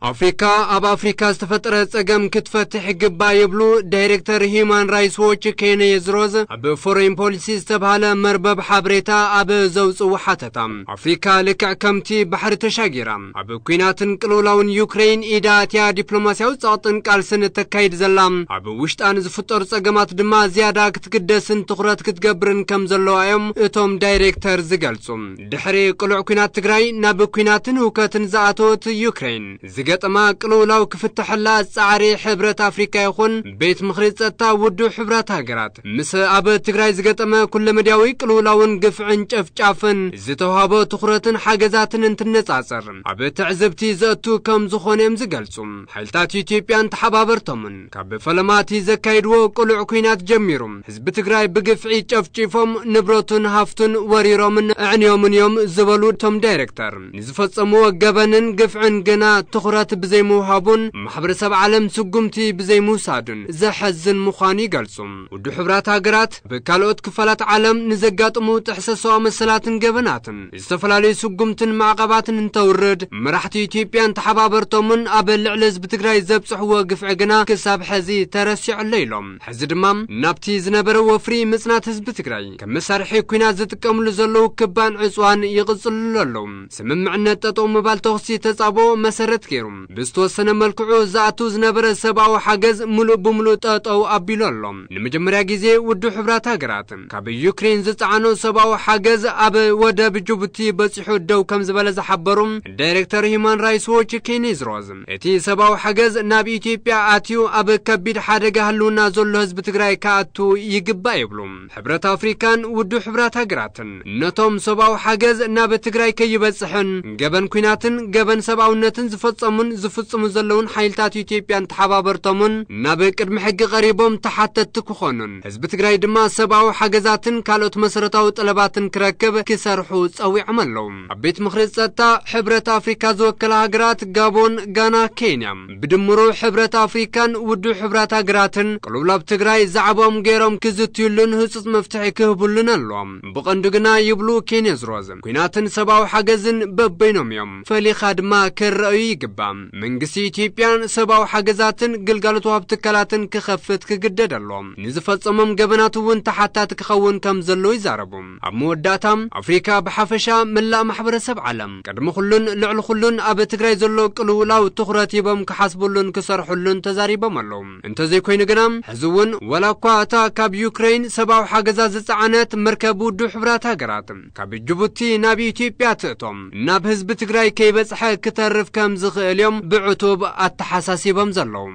ኣፍሪካ ኣብ ኣፍሪካ ዝተፈጠረ ጸገም ክትፈትሕ ይግባእ ይብሉ ዳይሬክተር ሂዩማን ራይትስ ዎች ኬነ የዝሮዝ ኣብ ፎሬን ፖሊሲ ዝተባህለ መርበብ ሓበሬታ ኣብ ዘውጽኡ ሓተታ። ኣፍሪካ ልክዕ ከምቲ ባሕሪ ተሻጊራ ኣብ ኲናትን ቅልውላውን ዩክሬን ኢዳ ኣትያ ዲፕሎማስያዊ ጸቕጥን ቃልስን እተካይድ ዘላ፣ ኣብ ውሽጣ ንዝፍጠሩ ጸገማት ድማ ዝያዳ ክትግደስን ትኹረት ክትገብርን ከም ዘለዋ እዮም እቶም ዳይሬክተር ዝገልጹ። ድሕሪ ቅሉዕ ኲናት ትግራይ ናብ ኲናትን ህውከትን ዝኣተወት ዩክሬን፣ ዝገጠማ ቅልውላው ክፍትሐላ ጻዕሪ ሕብረት ኣፍሪካ ይኹን ቤት ምኽሪ ጸጥታ ውድብ ሕብራት ሃገራት፣ ምስ ኣብ ትግራይ ዝገጠመ ኩለመዳያዊ ቅልውላውን ግፍዕን ጨፍጫፍን ዝተውሃቦ ትኹረትን ሓገዛትን እንትነጻጸር፣ ኣብ ትዕዝብቲ ዘእቱ ከም ዝኾነ እዮም ዝገልጹ። ሓይልታት ኢትዮጵያን ተሓባበርቶምን ካብ ፈለማቲ ዘካይድዎ ቅሉዕ ኲናት ጀሚሩ፣ ህዝቢ ትግራይ ብግፍዒ ጨፍጪፎም፣ ንብረቱን ሃፍቱን ወሪሮምን ኣዕንዮምን እዮም ዝበሉ እቶም ዳይሬክተር፣ ንዝፈጸምዎ ገበንን ግፍዕን ግና ትኹረት ብዘይምውሃቡን ማሕበረሰብ ዓለም ስጉምቲ ብዘይምውሳዱን ዘሐዝን ምዃኑ ይገልጹ። ውድብ ሕብራት ሃገራት ብካልኦት ክፋላት ዓለም ንዘጋጥሙ ጥሕሰት ሰብኣዊ መሰላትን ገበናትን ዝተፈላለዩ ስጉምትን ማዕቐባትን እንተውርድ፣ መራሕቲ ኢትዮጵያን ተሓባበርቶምን ኣብ ልዕሊ ህዝቢ ትግራይ ዘብጽሕዎ ግፍዒ ግና ክሳብ ሕዚ ተረሲዑ ኣሎ ኢሎም። ሕዚ ድማ ናብቲ ዝነበረ ወፍሪ ምጽናት ህዝቢ ትግራይ ከም መሳርሒ ኲናት ዝጥቀምሉ ዘለዉ ክባን ዕጽዋን ይቕጽልሉ ኣለዉ። ስምምዕነት ጠጠው ምባል ተኹሲ ተጻብኦ መሰረት ገይሩ ብዝተወሰነ መልክዑ ዝኣቱ ዝነበረ ሰብኣዊ ሓገዝ ምሉእ ብምሉእ ጠጠው ኣቢሉ ኣሎ። ንመጀመርያ ግዜ ውድብ ሕብራት ሃገራት ካብ ዩክሬን ዝጸዓኖ ሰብኣዊ ሓገዝ ኣብ ወደብ ጅቡቲ በጺሑ ደው ከም ዝበለ ዝሓበሩ ዳይሬክተር ሂዩማን ራይትስ ዎች ኬኔዝ ሮዝ፣ እቲ ሰብኣዊ ሓገዝ ናብ ኢትዮጵያ ኣትዩ ኣብ ከቢድ ሓደጋ ህልውና ዘሎ ህዝቢ ትግራይ ክኣቱ ይግባእ ይብሉ። ሕብረት ኣፍሪካን ውድብ ሕብራት ሃገራትን ነቶም ሰብኣዊ ሓገዝ ናብ ትግራይ ከይበጽሕን ገበን ኲናትን ገበን ሰብኣውነትን ዝፈጸሙን ዝፍጽሙ ዘለውን ሓይልታት ኢትዮጵያን ተሓባበርቶምን ናብ ቅድሚ ሕጊ ቀሪቦም ተሓተትቲ ክኾኑን ህዝቢ ትግራይ ድማ ሰብኣዊ ሓገዛትን ካልኦት መሰረታዊ ጠለባትን ክረክብ ክሰርሑ ጸዊዖም ኣለዉ። ኣብ ቤት ምኽሪ ጸጥታ ሕብረት ኣፍሪካ ዝወከላ ሃገራት ጋቦን፣ ጋና፣ ኬንያ፣ ብድምሩ ሕብረት ኣፍሪካን ውድብ ሕብራት ሃገራትን ቅልውላው ትግራይ ዛዕባኦም ገይሮም ክዝትዩሉን ህጹጽ መፍትሒ ክህቡሉን ኣለዎም። ብቐንዱ ግና ይብሉ ኬኔዝ ሮዝ፣ ኲናትን ሰብኣዊ ሓገዝን በበይኖም እዮም፣ ፈሊኻ ድማ ክረኣዩ ይግባእ። መንግስቲ ኢትዮጵያን ሰብኣዊ ሓገዛትን ግልጋሎት ወሃብ ትካላትን ክኸፍት ክግደድ ኣሎ። ንዝፈጸሞም ገበናት እውን ተሓታቲ ክኸውን ከም ዘለዎ ይዛረቡ። ኣብ መወዳእታ፣ ኣፍሪካ ብሓፈሻ መላእ ማሕበረሰብ ዓለም ቅድሚ ኩሉን ልዕሊ ኩሉን ኣብ ትግራይ ዘሎ ቅልውላው ትኹረት ሂቦም ክሓስብሉን ክሰርሕሉን ተዛሪቦም ኣለዉ። እንተዘይኮይኑ ግና፣ ሕዚ እውን ዋላ እኳ እታ ካብ ዩክሬን ሰብኣዊ ሓገዛት ዝጸዓነት መርከብ ውድብ ሕብራት ሃገራት ካብ ጅቡቲ ናብ ኢትዮጵያ ትእቶም ናብ ህዝቢ ትግራይ ከይበጽሐ ክተርፍ ከም ዝኽእል እዮም ብዕቱብ ኣተሓሳሲቦም ዘለዉ።